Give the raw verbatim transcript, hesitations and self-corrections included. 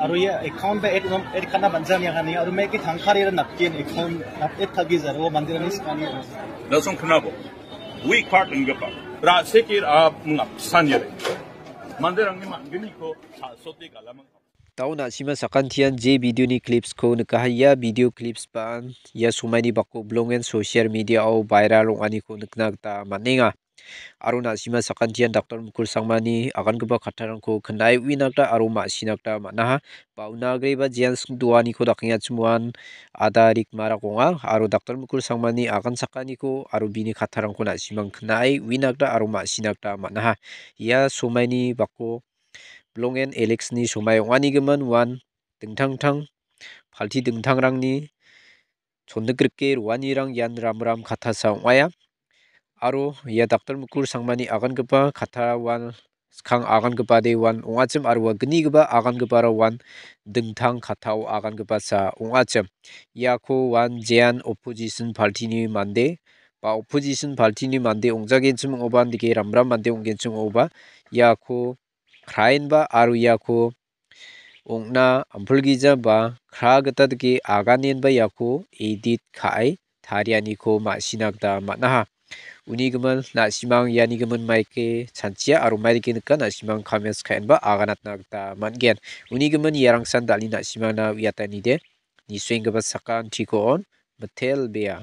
Aro ia account ba add, add ka·na banjani agane, aro meke tangkari aro napkin account add ka·gi jaro mandirangni sikani. Lasong knabo. Weak part inggipa. Rasiki a mengapsan yare. Mandirangni man·gniko sa·soti galamang. Dao na·sima sakantian je video ni clips ko nikaha ia video clips ban ia somaini bako blongen social media o viral ong·aniko nikna gita man·enga. Aro na·sima sakantian daktor Mukul Sangmani agangipa kattarangko knae uina gita aro ma·sina gita man·aha. Ba una agreba jean sing doaniko dakengachim uan ada rikmarak ong·a. Aro daktor Mukul Sangmani agan sakaniko aro bini kattarangko na·simang knae uina gita aro ma·sina gita man·aha. Ia somaini bako blongen Alex-ni somai ong·anigimin uan dingtang dingtang palti dingtangrangni chondikrike roanirang ian ramram kattasa ong·aia. Aro ia daktor Mukul Sangmani agangipa kattara uan skang agangipade uan ong·achim aro ua gnigipa agangipara uan dingtang kattao agangipasa ong·achim. Iako uan jean opposition party-ni mande ba opposition party-ni mande ong·jagenchim ong·oba dike ramram mande ong·genchim ong·oba iako kraenba aro iako ong·na ampilgija ba kra gita dike aganenba iako edit ka·e tarianiko ma·sina gita man·aha. Uni gimin na·simang iani gimin maike chanchia aro maidake nika na·simang comments ka·enba aganatna gita man·gen. Uni gimin iarangsan dal·e na·simangna uiatanide nisuenggipa sakan tiko on mitel bea.